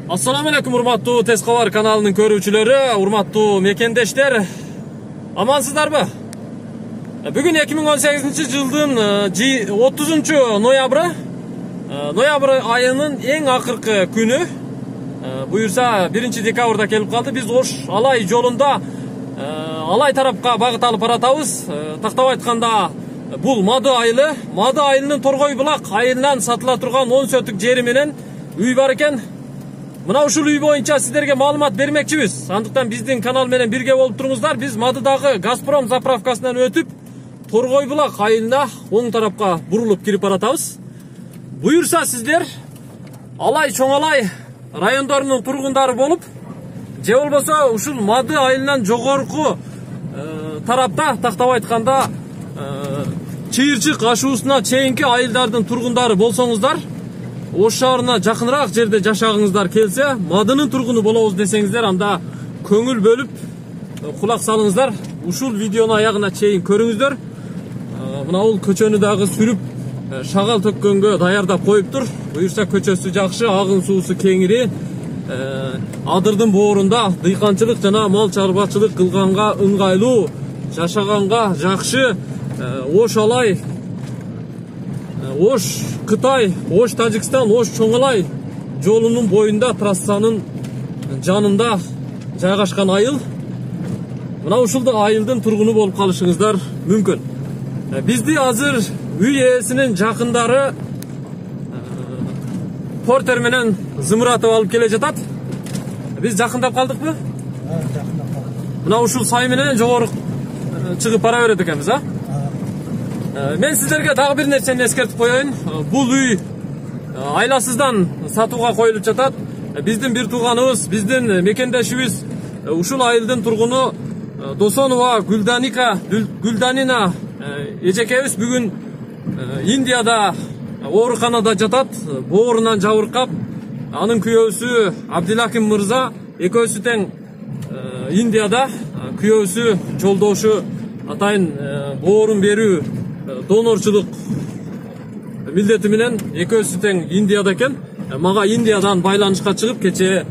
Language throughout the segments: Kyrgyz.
Assalamu alaikum урматтуу Тез кабар каналынын көрүүчүлөрү, урматтуу мекендештер. Амансыздарбы? Бүгүн 2018-жылдын 30-ноябры. Ноябрь айынын эң акыркы күнү. Буюрса 1-декабрда келип калды. Биз Ош Алай жолунда Алай тарапка багыт алып баратабыз. Тактап айтканда бул Мады айылы. Мады айылынын Торгой булак айылынан сатыла турган 10 сөтүк жери менен үй бар экен. Мына ушул үй боюнча сиздерге маалымат бермекчибиз. Андыктан биздин канал менен бирге болуп туруңуздар. Биз Мадыдагы Газпром заправкасынан өтүп, Торгой булак айылына оң тарапка бурулуп кирип баратабыз. Буюрса сиздер Алай, Чоң Алай райондорунун тургундары болуп, же болбосо ушул Мады айылынан жогорку тарапта, тактап айтканда Чыйырчык ашуусуна чейинки айылдардын тургундары болсоңуздар, Ош шаарына жакыныраак жерде жашагыңыздар келсе, Мадынын тургуну болобуз десеңиздер, анда көңүл бөлүп кулак салыңыздар. Ушул видеону аягына чейин көрүңүздөр. Мына бул көчөнү дагы сүрүп, шагал төккөнгө даярдап коюптур. Буюрса көчөсү жакшы, агын суусу кеңири. Адырдын боорунда дыйканчылык жана мал чарбачылык кылганга ыңгайлуу, жашаганга жакшы. Ош Алай, Ош Кытай, Ош Тажикстан, Ош Чоң Алай жолунун боюнда, трассанын жанында жайгашкан айыл. Мына ушул айылдын тургуну болуп калышыңыздар мүмкүн. Бизди азыр үй ээсинин жакындары портер менен зымыратып алып келе жатат. Биз жакындап калдыкпы? Жакындап калдык. Мына ушул сай менен жогору чыгып бара берет экенбиз, а? Мен сиздерге дагы бир нерсени эскертип коеюн. Бул үй айласыздан сатууга коюлуп жатат. Биздин бир тууганыбыз, биздин мекендешибиз, ушул айылдын тургуну Досонова Гүлданина эжекебиз бүгүн Индияда ооруканада жатат, боорунан жабыркап. Анын күйөөсү Абдилаким мырза экөөсү тең Индияда, күйөөсү жолдошу атайын боорун берүү донорчулук милдети менен экөөсү тең Индияда экен. Мага Индиядан байланышка чыгып, кече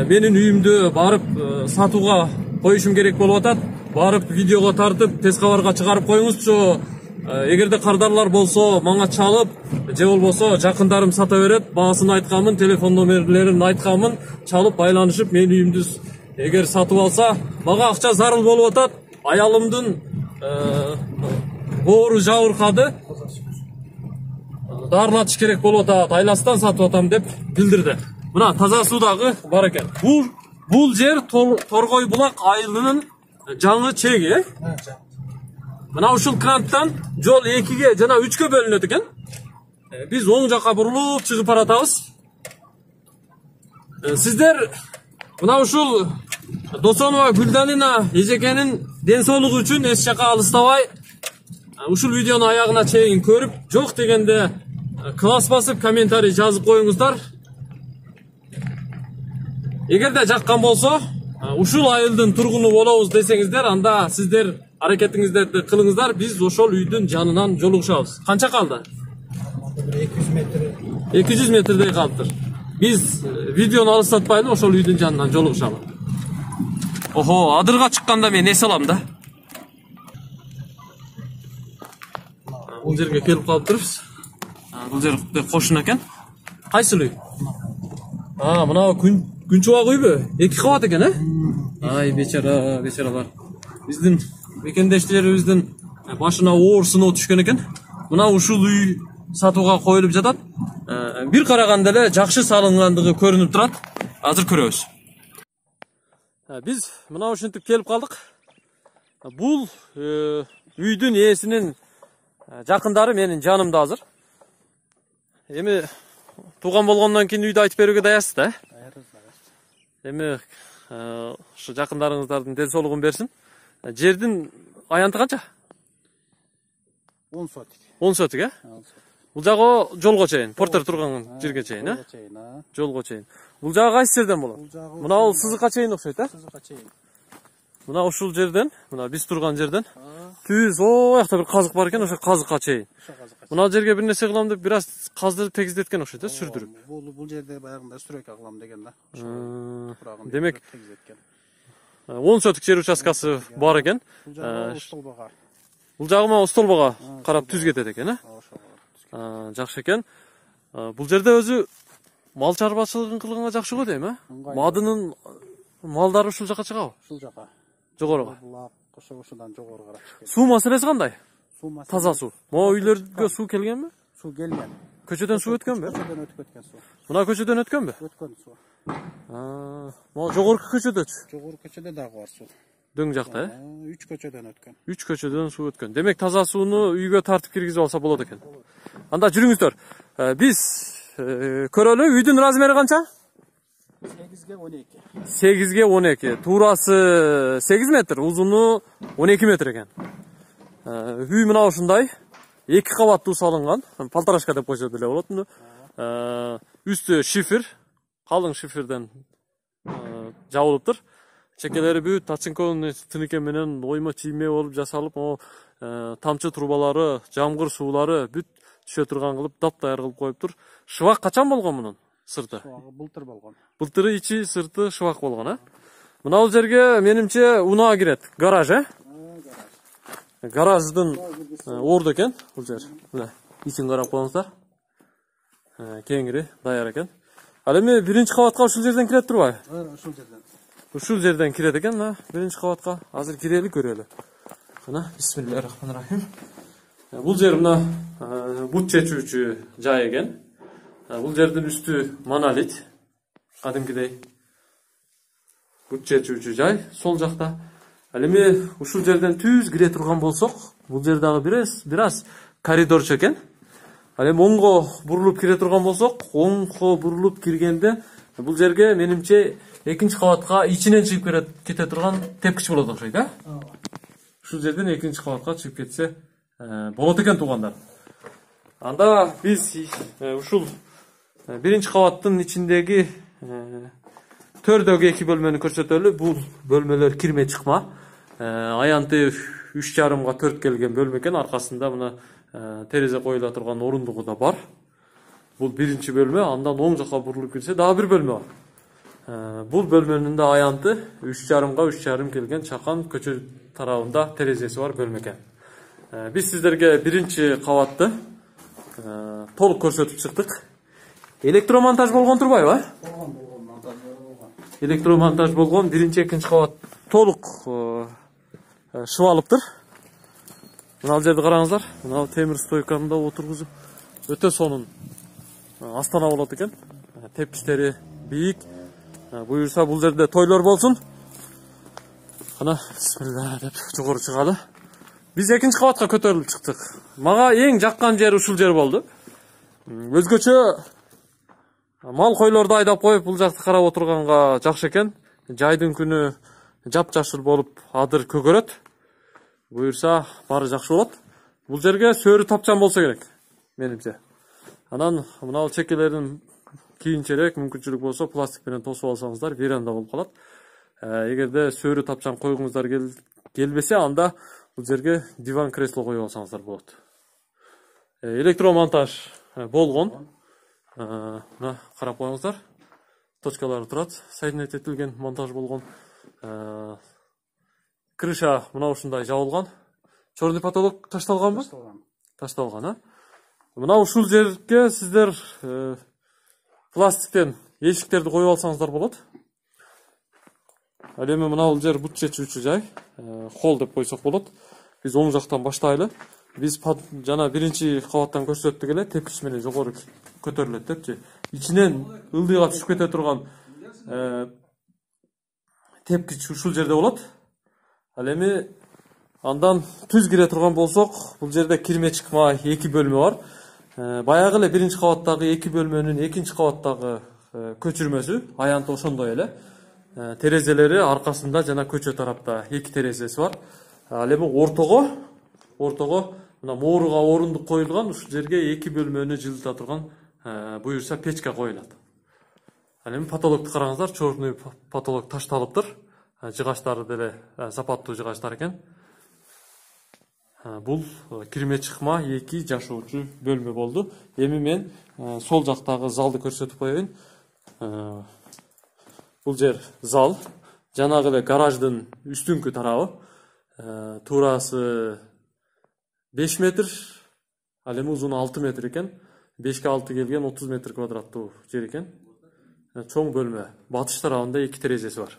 менин үйүмдү барып сатууга коюшум керек болуп атат. Барып видеого тартып, Тез кабарга чыгарып коюңузчу. Эгерде кардарлар болсо, мага чалып, же болбосо жакындарым сата берет, баасын айтканмын, телефон номерлерин айтканмын, чалып байланышып менин үйүмдү эгер сатып алса, мага акча зарыл болуп атат. Аялымдын боору жабыркады. Дарылатыш керек болуп атат, айласынан сатып атам деп билдирди. Мына таза суу дагы бар экен. Бул жер Торгой булак айылынын жаңы чеги, Мына ушул кранттан жол 2-ге жана 3-кө бөлүнөт экен. Биз оң жакка бурулуп чыгып баратабыз. Сиздер мына ушул Досонова Гүлданина эжекенин ден соолугу үчүн эч жака алыстабай ушул видеону аягына чейин көрүп, жок дегенде класс басып комментарий жазып коюңуздар. Эгерде жаккан болсо, ушул айылдын тургуну болобуз десеңиздер, анда сиздер аракетиңиздерди кылыңыздар. Биз ошол үйдүн жанынан жолугушабыз. Канча калды? 200 метр. 200 метрдей калыптыр. Биз видеону алыстатпайлы, ошол үйдүн жанынан жолугушабыз. Охо, адырга чыкканда мен эс алам да. Бул жерге келип калыптырбыз. Бул жер кошун экен. Кайсыл үй? Мына күн чубак үйбү? 2 кабат экен, Ай, бечаралар. Биздин мекендештерибиздин башына оор сыноо түшкөн экен. Мына ушул үй сатууга коюлуп жатат. Бир караганда эле жакшы салынгандыгы көрүнүп турат. Азыр көрөбүз. Биз мына ушинтип келип калдык. Бул үйдүн ээсинин жакындары менин жанымда азыр. Эми тууган болгондон кийин үйдү айтып берүүгө даярсыз да? Эми ушу жакындарыңыздардын ден соолугун берсин. Жердин аянты канча? 10 сотик. 10 сотик, Бул жагы жолго чейин, портер турган жерге чейин, Жолго чейин. Бул жагы кайсы жерден болот? Мына бул сызыкка чейин окшойт, Сызыкка чейин. Мына ушул жерден, мына биз турган жерден түз оякта бир казык бар экен, ошо казыкка чейин. Мына жерге бир нерсе кылам деп бир аз каздырып тегиздеткен окшойт, сүрдүрүп. Бул жерде баягында стройка кылам деген да. Демек 10 соток жер участкасы бар экен. Бул жагыма устолбага карап түз кетет экен, жакшы экен. Бул жерде өзү мал чарбачылыгын кылганга жакшы го дейм, Мадынын малдары ушул жака чыгабы? Ушул жака. Жогоруга. Ошодан жогору карап чыгат. Суу маселеси кандай? Суу маселеси. Таза суу. Могу үйлөргө суу келгенби? Суу келген. Көчөдөн суу өткөнбү? Көчөдөн өтүп кеткен суу. Мына көчөдөн өткөнбү? Өткөн суу. Могу жогорку көчөдөчү? Жогорку көчөдө дагы бар суу. Дөң жакта, 3 көчөдөн өткөн. 3 көчөдөн суу өткөн. Демек таза сууну үйгө тартып киргизип алса болот экен. Анда жүрүңүздөр. Биз көрөлү. Үйдүн размери канча? 8ге 12. 8ге 12. Туурасы 8 метр, узуну 12 метр экен. Үй мына ушундай. 2 кабаттуу салынган. Полторашка деп койсо деле болот муну. Үстү шифер, калың шиферден жабылыптыр. Чекелери бүт тачинконун тыныке менен оймо тийме болуп жасалып, тамчы трубалары, жамгыр суулары бүт түшө турган кылып таптайыр кылып коюптур. Шыбак качан болгон мунун? Сырты. Былтыр болгон. Былтыры ичи сырты шыбак болгон, Мына бул жерге менимче унаа кирет. Гараж, Гараждын орду экен бул жер. Мына ичин карап коюңуздар. Кеңири даяр экен. Ал эми биринчи кабатка ушул жерден кирет турбайбы? Ушул жерден. Ушул жерден кирет экен, мына биринчи кабатка. Азыр кирели көрөлү. Мына бисмиллахиррахманиррахим. Бул жер мына бут чечүүчү жай экен. Бул жердин үстү монолит. Кадимкидей. Бут чечүүчү жай сол жакта. Ал эми ушул жерден түз кире турган болсок, бул жер дагы бир аз коридорчу экен. Ал эми оңго бурулуп кире турган болсок, оңго бурулуп киргенде бул жерге менимче экинчи кабатка ичинен чыгып кете турган тепкич болот окшойт, Ушул жерден экинчи кабатка чыгып кетсе болот экен туугандар. Анда биз ушул биринчи кабаттын ичиндеги төрдөгү 2 бөлмөнү көрсөтөлү. Бул бөлмөлөр кирме чыкма. Аянты 3,5га 4 келген бөлмө экен. Аркасында мына терезе коюла турган орундугу да бар. Бул биринчи бөлмө. Андан оң жака бурулуп кирсе дагы бир бөлмө бар. Бул бөлмөнүн да аянты 3,5га 3,5 келген чакан көчө тарабында терезеси бар бөлмө экен. Биз сиздерге биринчи кабатты толук көрсөтүп чыктык. Электромонтаж болгон турбайбы? Болгон. Электромонтаж болгон, биринчи, экинчи кабат толук шыбалыптыр. Мына жерди караңыздар. Мына темир стойканы да отургузуп, өтө сонун астана болот экен. Тепкичтери бийик. Буюрса бул жерде тойлор болсун. Кана бисмилла деп жогору чыгалы. Биз экинчи кабатка көтөрүлүп чыктык. Мага эң жаккан жер ушул жер болду. Өзгөчө мал койлорду айдап коюп бул жакты карап отурганга жакшы экен. Жайдын күнү жапжашыл болуп адыр көгөрөт. Буюрса баары жакшы болот. Бул жерге сөөрү тапчан болсо керек менимче. Анан мына чекелерин кийинчерээк мүмкүнчүлүк болсо пластик менен тосуп алсаңыздар веранда болуп калат. Эгерде сөөрү тапчан койгуңуздар келбесе, анда бул жерге диван кресло коюп алсаңыздар болот. Электромонтаж болгон. Мына карап коюңуздар. Точкалары турат. Соединять этилген монтаж болгон. Крыша мына ушундай жабылган. Чорный потолок ташталганбы? Ташталган, Мына ушул жерге сиздер пластиктен эшиктерди коюп алсаңыздар болот. Ал эми мына бул жер бут чечүүчү жай. Холл деп койсок болот. Биз оң жактан баштайлы. Биз жана биринчи кабаттан көрсөттүк эле, тепкич менен жогору көтөрүлөт депчи. Ичинен ылдыйга түшүп кете турган тепкич ушул жерде болот. Ал эми андан түз кире турган болсок, бул жерде кирме чыкма 2 бөлмө бар. Баягы эле биринчи кабаттагы 2 бөлмөнүн экинчи кабаттагы көчүрмөсү аянты ошондой эле. Терезелери аркасында жана көчө тарапта 2 терезеси бар. Ал эми ортого мына mooруга орундук коюлган, ушул жерге 2 бөлмөнү жылыта турган буюрса печка коюлат. Ал эми потолокту караңыздар, чорный потолок ташталыптыр. жыгачтары деле сапаттуу жыгачтар экен. Бул кирме чыкма 2 жашоочу бөлмө болду. Эми мен сол жактагы залды көрсөтүп коеюн. Бул жер зал. Жанагы эле гараждын үстүңкү тарабы. Туурасы 5 метр, ал эми узуну 6 метр экен. 5ке 6 келген 30 метр квадраттуу жер экен. Чоң бөлмө. Батыш тарабында 2 терезеси бар.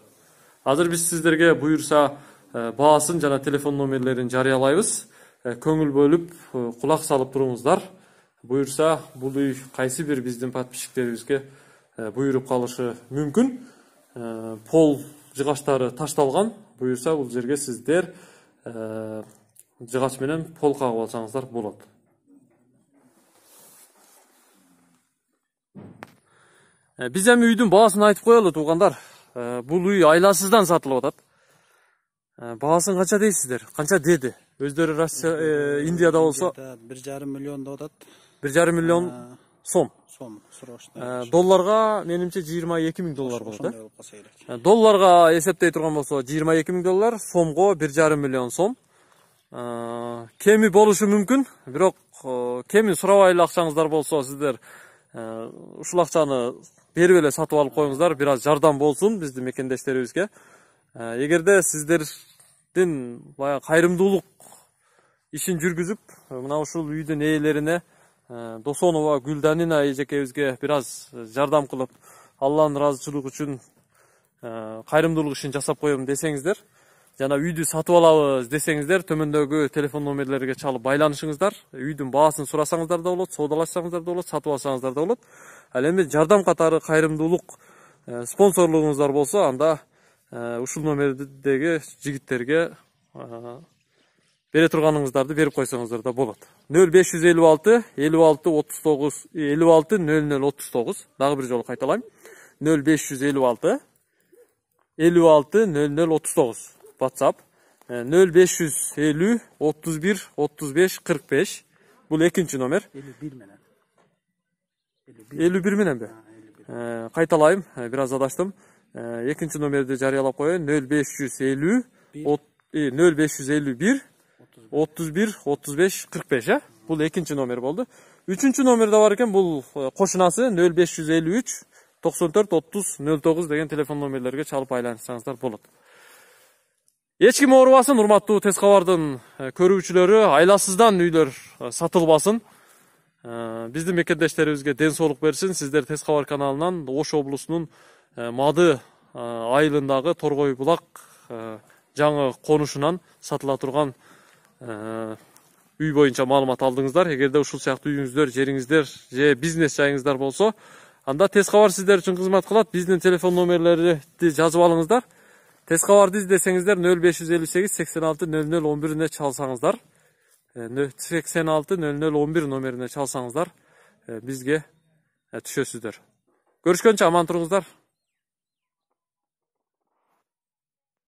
Азыр биз сиздерге буюрса баасын жана телефон номерлерин жарыялайбыз. Көңүл бөлүп, кулак салып туруңуздар. Буюрса бул үй кайсы бир биздин подписчиктерибизге буйруп калышы мүмкүн. Пол жыгачтары ташталган. Буюрса бул жерге сиздер жыгач менен пол кагып алсаңыздар болот. Биз эми үйдүн баасын айтып коелу туугандар. Бул үй айласыздан сатылып атат. Баасын канча дейсиздер? Канча деди? Өздөрү Россия, Индияда болсо 1,5 миллион деп атат. 1,5 миллион сом. Сом срочно. Долларга менимче 22 000 доллар болот. Долларга эсептей турган болсо 22 000 доллар, сомго 1,5 миллион сом. Кеми болушу мүмкүн, бирок кемин сурабай эле акчаңыздар болсо сиздер ушул акчаны берип эле сатып алып коюңуздар, бир аз жардам болсун биздин мекендештерибизге. Эгерде сиздердин баягы кайрымдуулук ишин жүргүзүп, мына ушул үйдүн ээлерине Досонова Гүлданина эжекебизге бир аз жардам кылып, Алланын ыраазычылыгы үчүн кайрымдуулук ишин жасап коем десеңиздер, жана үйдү сатып алабыз десеңиздер, төмөндөгү телефон номерлерге чалып байланышыңыздар. Үйдүн баасын сурасаңыздар да болот, соодалашсаңыздар да болот, сатып алсаңыздар да болот. Ал эми жардам катары кайрымдуулук спонсорлугуңуздар болсо, анда ушул номердеги жигиттерге бере турганыңыздарды берип койсоңуздар да болот. 0556 56 39 56 0039. Дагы бир жолу кайталайм. 0556 56 0039. WhatsApp 0550 31 35 45. Бул экинчи номер. 51 менен. 51 мененби? Кайталайм, бир аз адаштым. Экинчи номерди жарыялап коеюн. 0550 0551 31 35 45. Бул экинчи номер болду. Үчүнчү номер да бар экен, бул кошунасы 0553 94 30 09 деген телефон номерлерге чалып байланышсаңыздар болот. Эч ким оорубасын, урматтуу Тез кабардын көрүүчүлөрү, айласыздан үйлөр сатылбасын. Биздин мекендештерибизге ден соолук берсин. Сиздер Тез кабар каналынан Ош облусунун Мады айылындагы Торгой булак жаңы конушунан сатыла турган үй боюнча маалымат алдыңыздар. Эгерде ушул сыяктуу үйүңүздөр, жериңиздер же бизнес жайыңыздар болсо, анда Тез кабар сиздер үчүн кызмат кылат. Биздин телефон номерлерди жазып алыңыздар. Тез кабарды издесеңиздер 0558 86 0011 чалсаңыздар, 86 0011 номерине чалсаңыздар, бизге түшөсүздөр. Көрүшкөнчө аман туруңуздар.